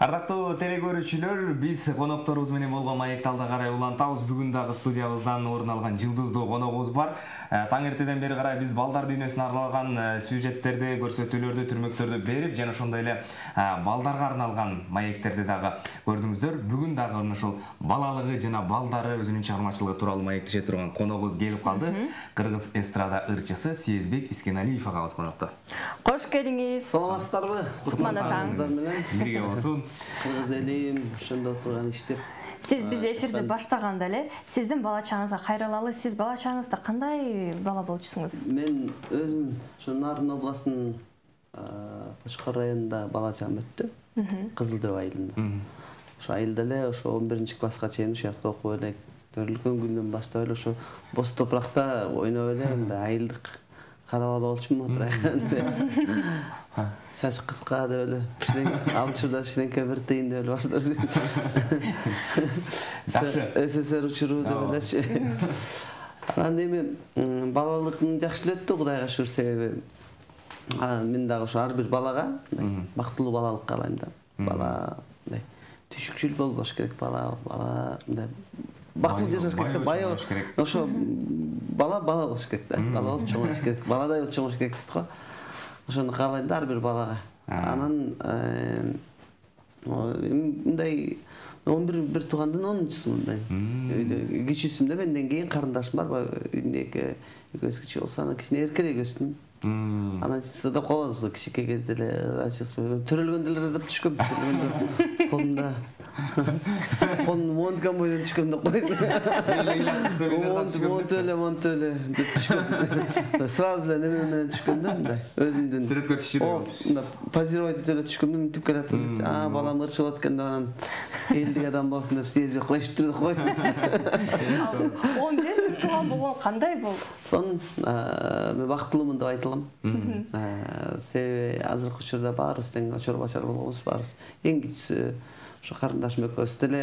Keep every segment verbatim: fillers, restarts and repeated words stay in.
Ардактуу теле көрүүчүлөр, биз конокторубуз менен болгон маекти алда карай улантабыз. Бүгүн дагы студиябыздан орун алган жылдыздуу коногубуз бар. Таң эртеден бери карай биз балдар дүйнөсүнө арналган сюжеттерди, көрсөтүүлөрдү, түрмөктөрдү берип, жана ошондой эле балдарга арналган маектерди дагы көрдүңүздөр. Бүгүн дагы ошол балалыгы жана балдары өзүнүн чыгармачылыгы тууралуу маектеше турган коногубуз келип калды. Кыргыз эстрада ырчысы Сезбек Искеналиев агабыз конокто. Кош келиңиз. Саламатсыздарбы? Кутман атаңыздар менен бирге болсун. Кыргыз элим ошондо турган иштеп. Сиз биз эфирди баштаганда эле сиздин бала чагыңызга кайрылалы. Сиз бала чагыңызда кандай бала болчусуңуз? Мен өзүм ошо Нарын областынын Кочкор районунда бала чагым өттү. Кызыл дөп айылында. Ошо айылда эле ошо он биринчи класска чейин ошол жакта окуп элек. Төрөлгөн күндөн баштап эле ошо боз топуракта ойноп эле мындай айылдык карап алып болчумун отура. Чач кыска деп эле, алчурда кичинекей бир тыйын деп эле баштап эле. Жакшы. СССР учуру деп элечи. Анан эми балалыгым жакшы эле өттү, Кудайга шүгүр, себеби мен дагы ошо ар бир балага бактылуу балалык каалайм да. Бала мындай түшүкчүл болбош керек, бала, бала мындай бактылуу жашаш керек да, бай ошо бала бала болуш керек да. Бала болуп чоңоюш керек, баладай болуп чоңоюш керек дейт го. Ошону каалайм да ар бир балага. Анан мындай он бир бир туугандын онунчусумун мен. Кичүүсүм да, менден кийин карындашым бар, эки экөөбүз кичүү болсо, анан кичине эркелей өстүм. Анан сырдап калбадыбыз, кичинекей кезде эле төрөлгөндө эле деп түшкөм, колумда колун монткам менен түшкөм деп койсун. Монт эле, монт эле деп түшкөм. Сразу эле неме менен түшкөм да, мындай өзүмдүн сүрөткө түшүрүп. Мындай позировать этип эле түшкөм да, мынтип келатып, а балам ырчы болот экен деп, анан элдик адам болсун деп сезбей коюштур деп койдум. он бир тууган болгон кандай болду? Сонун мен бактылуумун деп айта алам. Себеби азыркы учурда баарыбыз тең очор бачар болгонбуз, баарыбыз. Эң кичүүсү ошо карындашым экөөбүз деле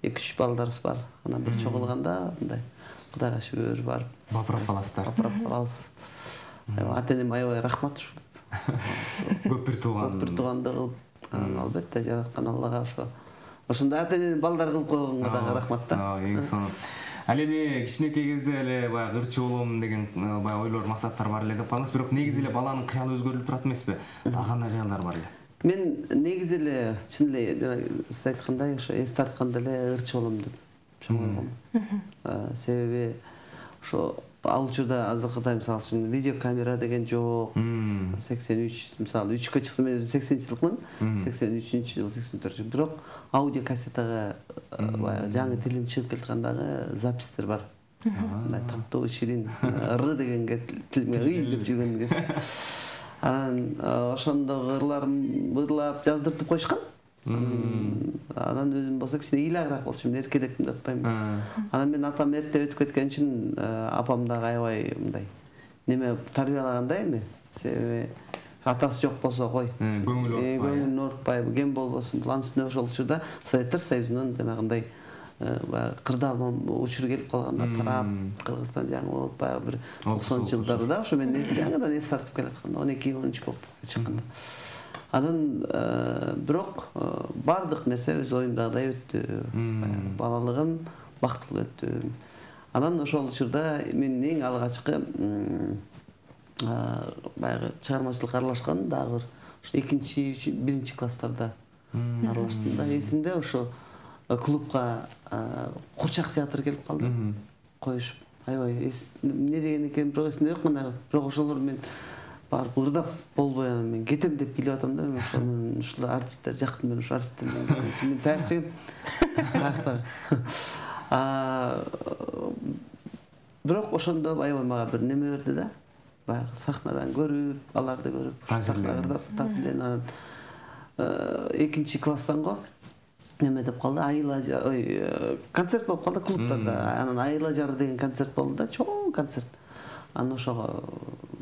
эки үч балдарыбыз бар. Анан бир чогулганда мындай Кудайга шүгүр барып бапырап каласыздар. Бапырап калабыз. Ата-энем аябай рахмат. Көп бир тууган. Көп бир тууганды кылып, албетте жараткан Аллага ошо ошондой ата-энени балдар кылып койгонго дагы рахмат да. Эң сонун. Ал эми кичинекей кезде эле баягы ырчы болом деген баягы ойлор, максаттар бар эле деп калдыңыз, бирок негизи эле баланын кыялы өзгөрүлүп турат эмеспи? Дагы кандай жайлар бар эле? Мен негизи эле чын эле жана сиз айткандай ошо эс тартканда эле ырчы болом деп чоңойгом. Себеби ошо ал учурда азыркыдай мисалы үчүн видеокамера деген жок. сексен үч мисалы үчкө чыкса, мен өзүм сексенинчи жылкмын. сексен үчүнчү жыл, сексен төртүнчү жыл. Бирок аудио кассетага баягы жаңы тилим чыгып келаткандагы запистер бар. Мындай таттуу, ширин, р дегенге тилиме ый деп жүргөн кез. Анан ошондо ырларым ырлап жаздыртып коюшкан. Анан өзүм болсо кичине ыйлагыраак болчумун, эркелепмин деп атпаймынбы. Анан мен атам эрте өтүп кеткен үчүн апам дагы аябай мындай неме тарбиялагандай эми. Себеби атасы жок болсо кой. Көңүл орутпай. Көңүл орутпай, кем болбосун. План үстүнө ошол учурда Советтер Союзунун жанагындай баягы кырдаал учуру келип калганда тарап, Кыргызстан жаңы болуп, баягы бир токсонунчу жылдары да ошо мен жаңыдан эс тартып келатканда, он эки он үч болуп чыкканда. Анан бирок бардык нерсе өз оюмдагыдай өттү. Балалыгым бактылуу өттү. Анан ошол учурда мен эң алгачкы баягы чыгармачылыкка аралашкан дагы ошо экинчи, биринчи класстарда аралаштым да. Эсимде ошо клубка Курчак театры келип калды. Коюшуп, аябай эмне деген экен бирок эсимде жок мына. Бирок ошолор мен барып ырдап болбой анан мен кетем деп билип атам да. Мен ошол мен ушул артисттер жактым, мен ошол артисттер менен кетем. Мен таякчы каяктагы. Бирок ошондо аябай мага бир неме берди да. Баягы сахнадан көрүп, аларды көрүп, сахнада ырдап, таасирленип, анан экинчи класстан го неме деп калды, айла, ой, концерт болуп калды клубтарда. Анан айла жары деген концерт болду да, чоң концерт. Анан ошого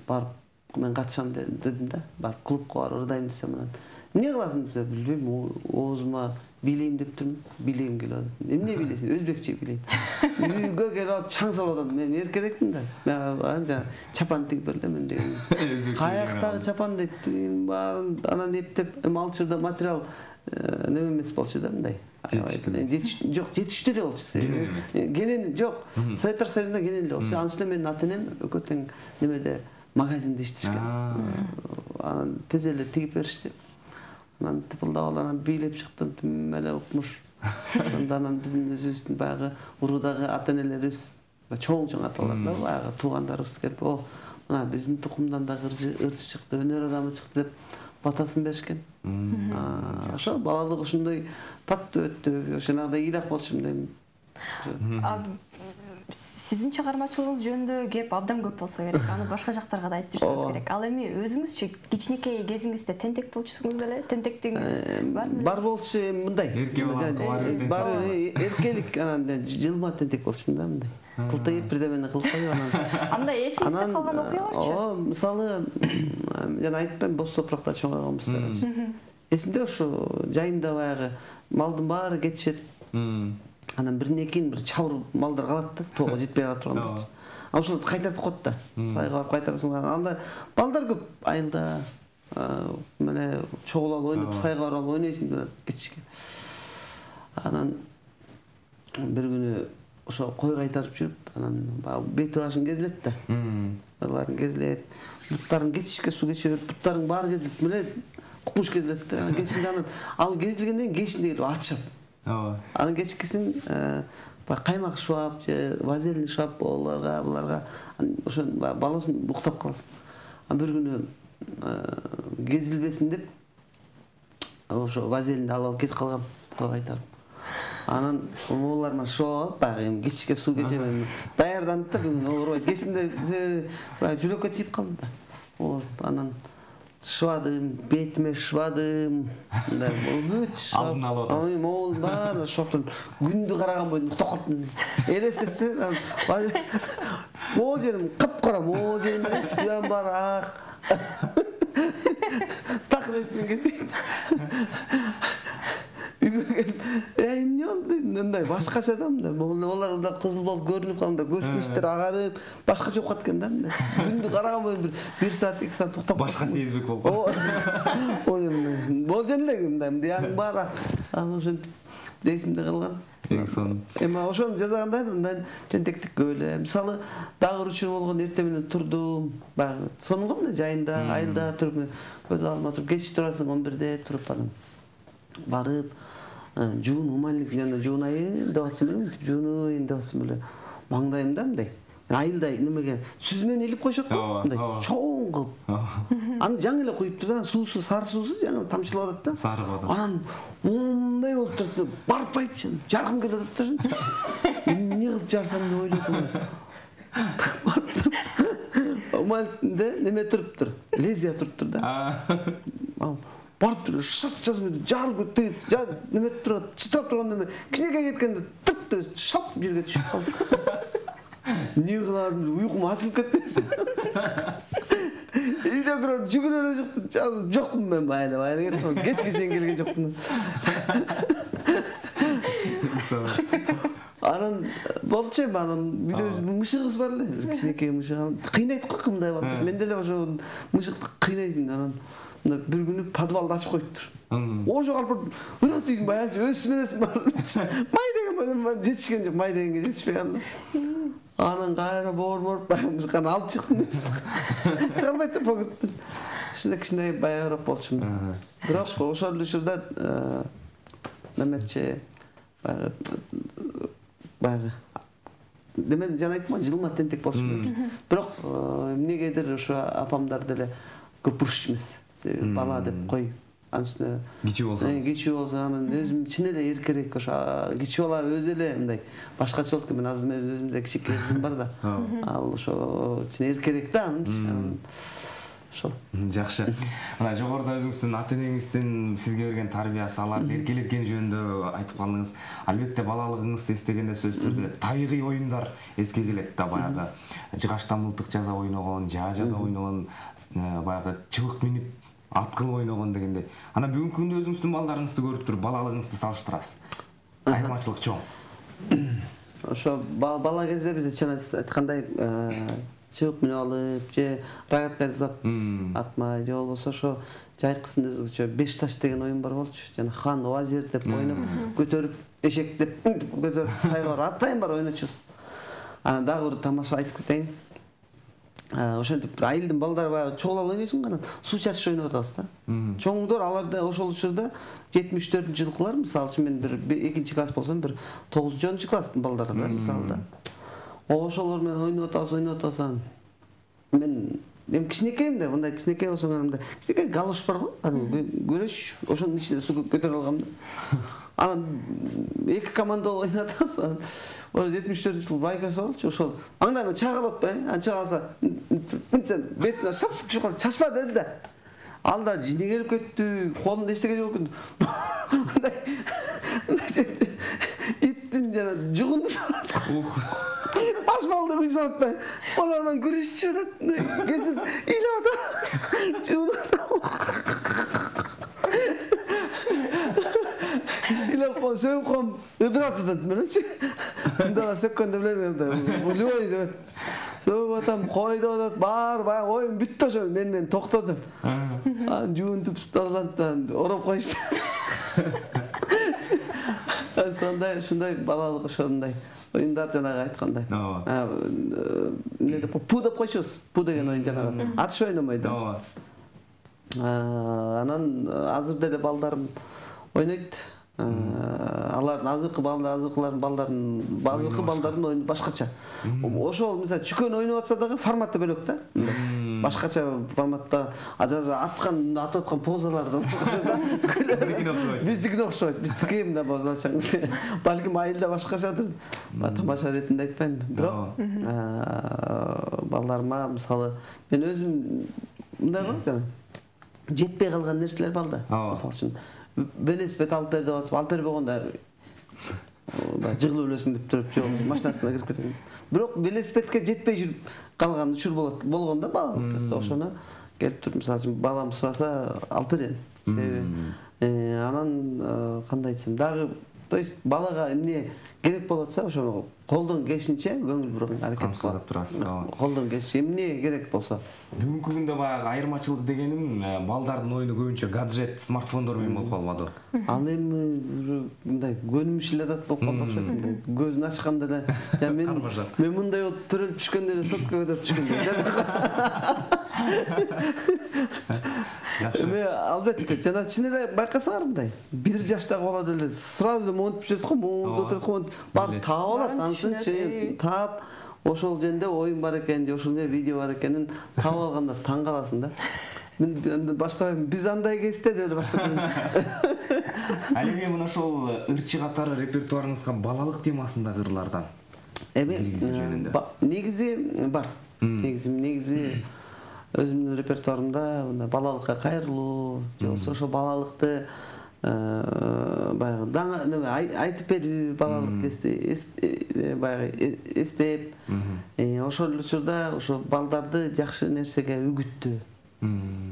барып мен катышам дедим да, барып клубка барып ырдайм десем, анан эмне кыласың десе, билбейм, оозума билейм деп турмун, билейм келип атат. Эмне билесиң? Өзбекче билейм. Үйгө келип алып чаң салып атам. Мен эркерекмин да. Мен анча чапан тигип берелем деген. Каяктагы чапан дейт, баарын анан эптеп, эми ал учурда материал неме эмес болчу да, мындай. Жок, жетиштүү эле болчу. Кенен жок. Советтер Союзунда кенен эле болчу. Анын үстүнө менин ата-энем экөө тең немеде магазинде иштешкен. Анан тез эле тигип беришти. Анан тыпылдап алып анан бийлеп чыктым, түм эле укмуш. Ошондо анан биздин өзүбүздүн баягы уруудагы ата-энелерибиз чоң-чоң аталар да, баягы туугандарыбыз келип, о, мына биздин тукумдан да ырчы чыкты, өнөр адамы чыкты деп батасын беришкен. Ошо балалык ошондой таттуу өттү, ошонагыдай ыйлак болчу дейм. Сиздин чыгармачылыгыңыз жөнүндө кеп абдан көп болсо керек. Аны башка жактарга да айтып жүрсөңүз керек. Ал эми өзүңүзчү кичинекей кезиңизде тентек болчусуңуз беле? Тентектигиңиз бар беле? Бар болчу, эми мындай. Бар эркелик, анан жылма тентек болчумун да, мындай. Кылтайып бирдемени кылып анан. Андай эсиңизде калган окуяларчы? О, мисалы, жана айтпайм, боз топуракта чоңойгонбуз деп. Эсимде ошо жайында баягы малдын баары кетишет. Анан биринен кийин бир чабыр малдар калат да, тоого жетпей кала тургандар. А ошолорду кайтартып коет да. Сайга барып кайтарасың. Анда балдар көп айылда. Мына чогулуп ойноп, сайга барып ойнойсуң деп кетишкен. Анан бир күнү ошо кой кайтарып жүрүп, анан бети башын кезилет да. Аларын кезилет. Буттарын кечишке суу кечирип, буттарын баары кезилип, мына кукмуш кезилет да. Кечинде анан ал кезилгенден кийин кечинде келип атышат. Анын кечкисин каймак шуап же вазелин шуап оларга, буларга ошо балосын уктап каласың. Анан бир күнү кезилбесин деп ошо вазелинди алып кетип калгам, кайтарып. Анан олар менен шуап, баягы эми кечке суу кечемем. Даярданып да бүгүн оорубайт. Кечинде жүрөккө тийип калды да. Анан швадым, бетиме швадым, мындай бүт швап. Алдын алып атасыз. Могул баары шоптун күндү караган бойдон уктап калыптын. Элестетсе, могул жерим кыпкара, могул жерим эмес, буян баары ак. Так ресмин кетти. Үйгө келип, эмне болду? Мындай башкача да мындай. Олар да кызыл болуп көрүнүп калганда, көздүн иштери агарып, башкача окуп аткан да мындай. Күндү караган бойдон бир бир саат, эки саат уктап. Башка сезбек болуп. Ой, болжон эле мындай, мындай баары. Анан ошентип эсимде калган. Эң сонун. Эми ошону жазганда мындай тентектик көп эле. Мисалы, дагы учур болгон эртең менен турдум, баягы сонун го мындай жайында, айылда туруп, көз алдыма туруп, кеч турасың он бирде туруп анан барып жуун умальник жана жуунайын деп атсам эле, мынтип жуунайын деп атсам эле, маңдайымда мындай айылда немеге сүзмөнү илип коюшат го, мындай чоң кылып. Аны жаңы эле куюптур да, суусу, сары суусу жаңы тамчылап атат да. Сары кылып. Анан мындай болуп турат, барып байып, жаркым келип атат да. Эмне кылып жарсам деп ойлойт. Барып туруп, умальникте неме туруптур, лезвия туруптур да. Барып туруп, шарт жазып, жарылып кетип, неме турат, чытрап турган неме, кичинекей кеткенде тырт шап жерге түшүп калды. Не кыларым, уйкум асылып кетти. Үйдө кирип жүгүрүп эле чыктым, жокмун мен байлап, байлап кеттим. Кечке чейин келген жокмун. Анан болчу эми анан үйдө мышыгыбыз бар эле, бир кичинекей мышык. Кыйнайт го кымдай болуп. Мен деле ошо мышыкты кыйнайсың анан бир күнү подвалды ачып коюптур. Ошо калып ырак тийгин баягы өсмөс бар. Май деген менен жетишкен жок, май дегенге жетишпей калды. Анан кайра боорморуп баягы алып чыктым. Чыгарбайт деп погутту. Ушундай кичине баягыраак болчумун. Бирок ошол учурда неметчи баягы баягы демен жана айттым, жылма тентек болчумун. Бирок эмнегедир ошо апамдар деле көп бурушчу эмес. Бала деп кой. Анын үстүнө кичүү болсо. Кичүү болсо анан өзүм чын эле эркерээк ошо кичүү бала өзү эле мындай башкача болот. Мен азыр өзүмдө кичинекей кызым бар да. Ал ошо чын эркерээк да анын. Ошол. Жакшы. Мына жогоруда өзүңүздүн ата-энеңиздин сизге берген тарбиясы, аларды эркелеткени жөнүндө айтып калдыңыз. Албетте балалыгыңызды эстегенде сөзсүз түрдө табигый оюндар эске келет да, баягы жыгачта мылтык жаза ойногон, жаа жаза ойногон, баягы чыбык минип ат кылып ойногон дегендей. Анан бүгүнкү күндө өзүңүздүн балдарыңызды көрүп туруп балалыгыңызды салыштырасыз. Айырмачылык чоң. Ошо бала кезде биз жана айткандай чыбык менеп алып же рогатка жасап атмай же болбосо ошо жайкысын өзгөчө беш таш деген оюн бар болчу. Жана хан вазир деп ойноп, көтөрүп эшек деп көтөрүп сайга атайын бар ойночубуз. Анан дагы бир тамаша айтып кетейин. Ошентип айылдын балдары баягы чогулап ойнойсуң, анан суу чачыш ойноп атабыз да. Чоңдор аларда ошол учурда жетимиш төртүнчү жылкылар, мисалы үчүн мен бир экинчи класс болсом, бир тогузунчу класстын балдары да, мисалы да. Ошолор менен ойноп атабыз, ойноп атабыз. Мен мен кичинекейм да, мындай кичинекей болсоң, мындай кичинекей галош бар го, көлөш, ошонун ичинде суу көтөрүп алгам да. Анан эки команда болуп ойноп атабыз. Ошо жетимиш төртүнчү жыл байкасы болчу, ошол аңдайм чагылып атпайбы? Анан чагылса, мынтсем бетине шап түшүп калды, чачпа деди да. Ал да жини келип кетти, колунда эчтеке жок экен. Мындай иттин жана жугунду башмалды кыйсып атпайбы? Олар менен күрөшүп атат. Кесип ыйлап атат. Жугунуп атат. Илеп кон, сөйүп кон, ыдырап атат мененчи. Тunda сөккөндө билесиң да, любой деп. Сөйүп атам, койдоп атат, бар, баягы оюн бүттү ошо, мен мен токтоду. Анан жуунтуп тазалантан ороп коюшту. Сондай, ушундай балалык ошондой оюндар жанагы айткандай. Эмне деп, пу деп койчубуз. Пу деген оюн жанагы. Атыш ойномойду. Анан азыр деле балдарым ойнойт. Алардын азыркы балдар, азыркылардын балдарын, азыркы балдардын оюну башкача. Ошол мисалы чүкөн ойноп атса дагы форматы бөлөк да. Башкача форматта аткан, атып аткан позаларды биздикине окшойт. Биздики мындай позалчаң. Балким айылда башкачадыр. Тамаша иретинде айтпайм. Бирок балдарыма мисалы мен өзүм мындай го, жетпей калган нерселер бар да. Мисалы үчүн велосипед алып бер деп атып, алып бербегенде жыгылып өлөсүң деп туруп, жок машинасына кирип кетет. Бирок велосипедке жетпей жүрүп калган учур болот, болгондо балалыкта ошону келип туруп, мисалы үчүн балам сураса алып берем. Себеби анан кандай айтсам, дагы, то есть балага эмне керек болот атса, ошону колдон келишинче көңүл бурууга аракет кылып турасыз. Колдон келишинче эмне керек болсо. Бүгүнкү күндө баягы айырмачылык дегеним балдардын оюну көбүнчө гаджет, смартфондор менен болуп калбады. Ал эми мындай көнүмүш эле дат болуп калды окшойт. Көзүн ачканда эле, мен мен мындай болуп төрөлүп түшкөндө эле сотка көтөрүп түшкөндө. Эме албетте, жана чын эле байкасаңар мындай бир жаштагы бала деле сразу монтип жүрөт го, монтип отырат го, бар таап алат, ансынчы таап ошол жерде оюн бар экен, же ошол жерде видео бар экенин таап алганда таң каласың да. Мен баштабайм, биз андай кезде деп эле баштадым. Ал эми мына ошол ырчы катары репертуарыңызга балалык темасындагы ырлардан эми негизи бар. Негизи негизи өзүмдүн репертуарымда мына балалыкка кайрылуу, же болбосо ошо балалыкты баягы неме айтып берүү, балалык кезде баягы эстеп, ошол учурда ошо балдарды жакшы нерсеге үгүттөө.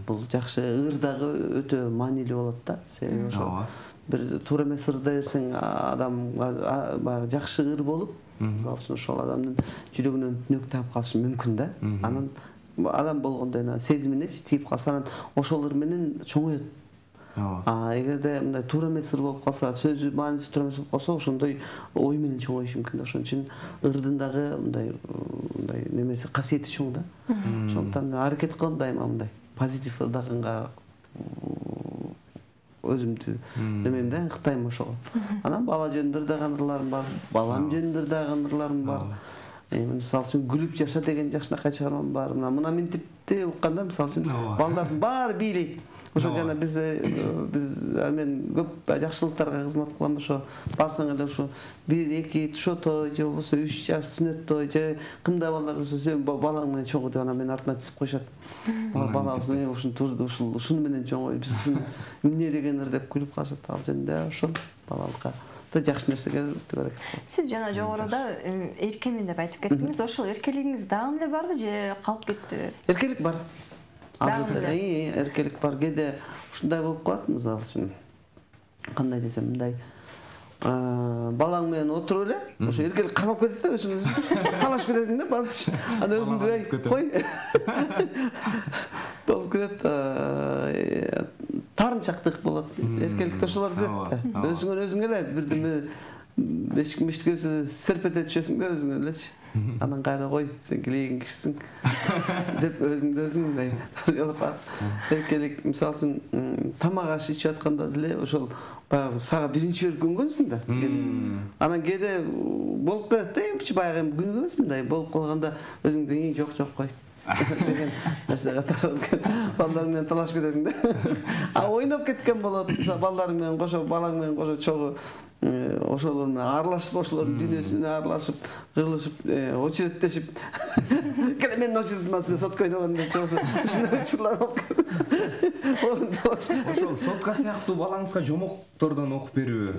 Бул жакшы ыр дагы өтө маанилүү болот да. Себеби ошо бир туура эмес ырды берсең адамга баягы жакшы ыр болуп, мисалы үчүн ошол адамдын жүрөгүнөн түнөк таап калышы мүмкүн да. Анан адам болгондо сезимине тийип калса, анан ошол ыр менен чоңоет. А эгерде мындай туура эмес ыр болуп калса, сөзү мааниси туура эмес болуп калса, ошондой ой менен чоңоюшу мүмкүн да. Ошон үчүн ырдын дагы мындай мындай немеси касиети чоң да. Ошондон аракет кылам дайыма мындай позитив ырдаганга өзүмдү немем да, ыктайм ошого. Анан бала жөнүндө ырдаган ырларым бар, балам жөнүндө ырдаган ырларым бар. Мисалы үчүн күлүп жаша деген жакшынакай чыгармам бар. Мына минтипти укканда мисалы үчүн балдардын баары бийлейт. Ошо жана биз биз мен көп жакшылыктарга кызмат кылам. Ошо барсаң эле ошо бир эки тушо той же болбосо үч жаш сүнөт той же кымдай балдар болсо сен балаң менен чоңо деп анан мени артынан тизип коюшат. Балабыз ушуну турду, ушул ушуну менен чоңой, биз ушуну эмне дегендир деп күлүп калышат. Ал жерде ошол балалыкка жакшы нерсеге керек. Сиз жана жогоруда эркемин деп айтып кеттиңиз. Ошол эркелигиңиз дагы эле барбы же калып кеттиби? Эркелик бар. азыр деле эркелик бар. Кээде ушундай болуп калат, мисалы үчүн. Кандай десем, мындай балаң менен отуруп эле, ошо эркелик кармап кетет да, өзүң өзүң талашып кетесиң да, барып. Аны өзүңдү ай кой. Болуп кетет. Тарынчактык болот. Эркеликте ошолор билет да. Өзүңөн өзүң эле бирдеме бешик миштикесе серпете түшөсүң да өзүң элечи. Анан кайра кой, сен килеген кишисиң деп өзүңдү өзүң мындай тарбиялап атып. Эркелик мисалы үчүн тамак аш ичип атканда деле ошол баягы сага биринчи берип көнгөнсүң да. Анан кээде болуп кетет да, баягы күнүгө эмес мындай болуп калганда өзүңдү жок жок кой деген нерсе катары балдар менен талашып кетесиң да. А ойноп кеткен болот. Мисалы балдарың менен кошо, балаң менен кошо чогуу ошолор менен аралашып, ошолордун дүйнөсү менен аралашып, кырылышып, очереттешип. Келе менин очеретим мен сотко ойногон деп чыгса, ушундай учурлар болуп. Ошол сотка сыяктуу балаңызга жомоктордон окуп берүү.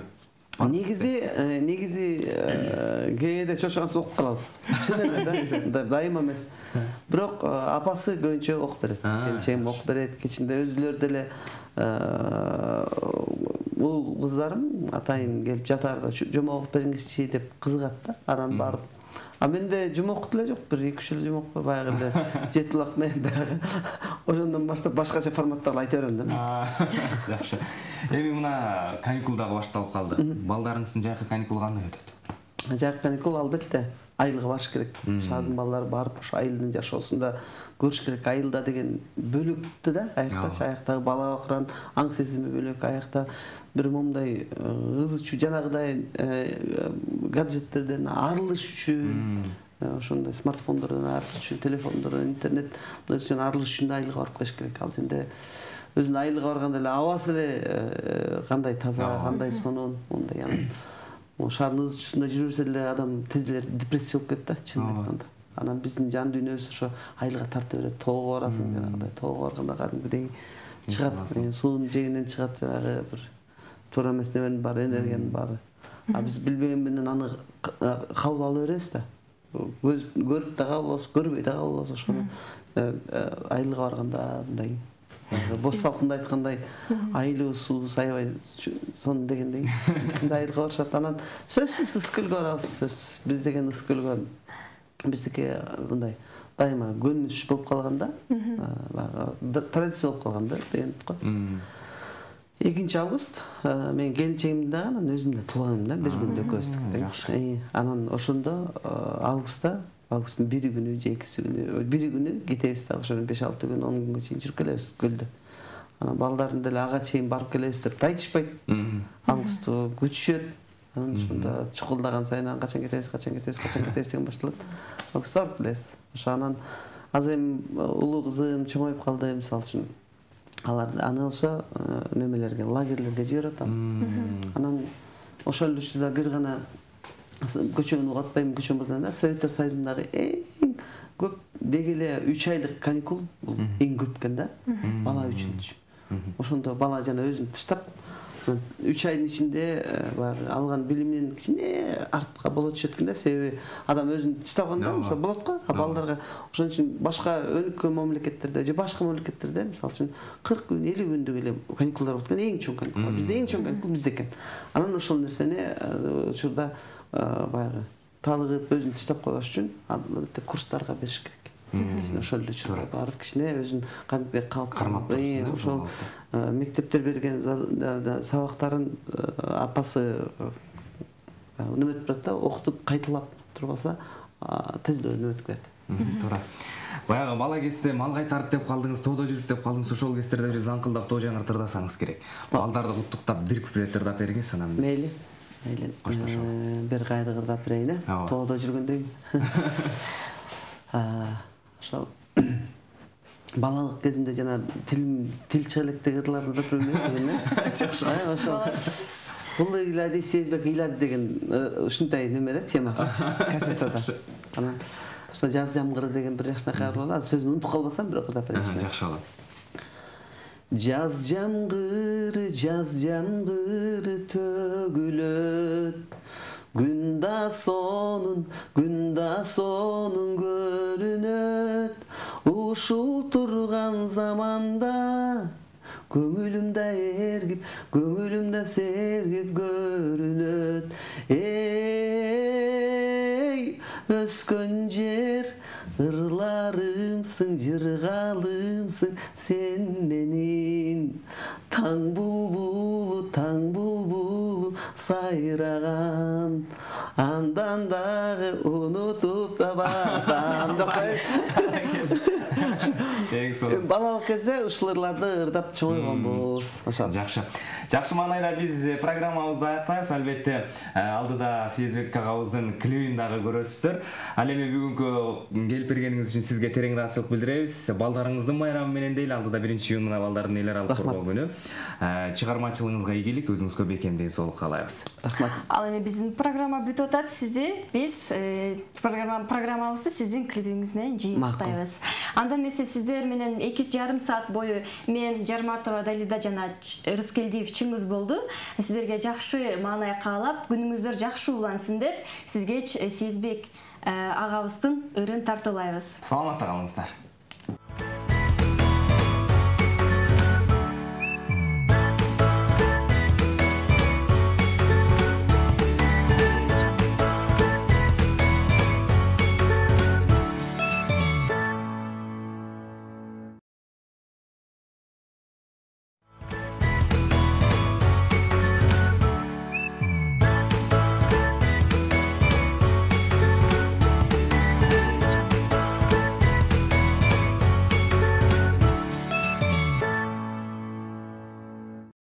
Негизи, негизи кээде чочкансыз окуп калабыз. Чын эле да, дайыма эмес. Бирок апасы көбүнчө окуп берет. Келчегим окуп берет, кечинде өзүлөр деле бул кыздарым атайын келип жатаарда жомок окуп бериңизчи деп кызыгат да. Анан барып. А менде жомок деле жок, бир эки үч жыл жомок бар, баягы эле жети улак менен дагы. Ошондон баштап башкача форматтагы айта берем да. Жакшы. Эми мына каникул дагы башталып калды. Балдарыңыздын жайкы каникулу кандай өтөт? Жайкы каникул албетте айылга барыш керек. Шаардын балдары барып ошо айылдын жашоосунда көрүш керек. Айылда деген бөлүктү да, аяктачы аяктагы бала бакыран аң сезими бөлөк, аякта бир момундай ызы чуу жанагыдай гаджеттерден арылыш үчүн, ошондой смартфондордон арылыш үчүн, телефондордон, интернет үчүн арылыш үчүн айылга барып келиш керек. Ал жерде өзүнүн айылга барганда эле абасы эле кандай таза, кандай сонун, мондай анан шаардын ызы чуусунда жүрө берсе эле адам тез эле депрессия болуп кетет да, чынын айтканда. Анан биздин жан дүйнөбүз ошо айылга тарта берет. Тоого барасың, жанагыдай тоого барганда кадимгидей чыгат, суунун жээгинен чыгат жанагы бир туура эмес неменин баары, энергиянын баары. А биз билбеген менен аны кабыл ала беребиз да. Көз көрүп да кабыл алабыз, көрбөй да кабыл алабыз. Ошону айылга барганда мындай бос салкында айткандай айылыбыз суубуз аябай сонун дегендей биздин айылга барышат. Анан сөзсүз ыс көлгө барабыз, сөз. Биз деген ыс көлгө биздики мындай дайыма көнүш болуп калганда, баягы традиция болуп калганда деген го. экинчи август мен келинчегимдин дагы анан өзүмдүн да туулганым да, бир күндө экөөбүздүк тең. Анан ошондо августта, августтун бири күнү же экиси күнү, бири күнү кетебиз да, ошо беш алты күн, он күнгө чейин жүрүп келебиз көлдө. Анан балдарын деле ага чейин барып келебиз деп айтышпайт. Августту күтүшөт. Анан ошондо чукулдаган сайын качан кетебиз, качан кетебиз, качан кетебиз деген башталат. Августта барып келебиз. Ошо анан азыр эми улуу кызым чоңоюп калды, мисалы үчүн. Алар аны ошо немелерге, лагерлерге жиберип атам. Анан ошол учурда бир гана көчөгүн угатпайм, көчөгүн болсо да, Советтер Союзундагы эң көп деги эле үч айлык каникул бул эң көп экен да, бала үчүн. Ошондо бала жана өзүн тыштап үч айдын ичинде баягы алган билиминен кичине артка боло түшөт экен да, себеби адам өзүн тыштаганда ошо болот го, а балдарга ошон үчүн башка өнүккөн мамлекеттерде же башка мамлекеттерде мисалы үчүн кырк күн, элүү күндүк эле каникулдар болот экен, эң чоң каникул. Бизде эң чоң каникул бизде экен. Анан ошол нерсени учурда баягы талыгып өзүн тыштап койбош үчүн албетте курстарга бериш керек. Кичине ошол учурда барып кичине өзүн кантип кармап ошол мектептер берген сабактарын апасы неметип турат да, окутуп кайталап турбаса тез эле неметип кетет. Туура. Баягы бала кезде мал кайтарып деп калдыңыз, тоодо жүрүп деп калдыңыз, ошол кездерде бир заңкылдап тоо жаңыртырдасаңыз керек. Балдарды куттуктап бир куплет ырдап бергиңиз, анан мейли. Мейли. Бир кайры ырдап берейин, тоодо жүргөндөй. Ошол балалык кезимде жана тил тил чыга электеги ырларды да билбейм жакшы. Ошол бул ыйлади сезбек ыйлади деген ушундай неме да, темасы кассетада. Анан ошо жаз жамгыры деген бир жакшынакай ыры бар. Сөзүн унутуп калбасам бирок ырдап берейин. Жакшы болот. Жаз жамгыры, жаз жамгыры төгүлөт. Күн да сонун, күн да сонун көрүнөт. ушул турган заманда көңүлүмдө эргип, көңүлүмдө сергип көрүнөт. Эй, өскөн жер ырларымсың, жыргалымсың сен менин. Таң булбулу, таң булбулу сайраган, андан дагы унутуп да бардам деп коет. Балалык кезде ушул ырларды ырдап чоңойгонбуз. Жакшы. Жакшы маанайда биз программабызды аяктайбыз. Албетте, алдыда Сезбек агабыздын клибин дагы көрөсүздөр. Ал эми бүгүнкү келип бергениңиз үчүн сизге терең ыраазычылык билдиребиз. Балдарыңыздын майрамы менен дейли, алдыда биринчи июнь мына балдардын элер алып коргоо күнү. Чыгармачылыгыңызга ийгилик, өзүңүзгө бекем ден соолук каалайбыз. Рахмат. Ал эми биздин программа бүтүп атат. Сизди биз программабызды сиздин клибиңиз менен жыйынтыктайбыз. Анда эмесе сиздер менен эки жарым саат бою мен Жарматова Далида жана Рыскелдиев чыңгыз болду. Сиздерге жакшы маанай каалап, күнүңүздөр жакшы улансын деп сизге Сезбек агабыздын ырын тартуулайбыз. Саламатта калыңыздар.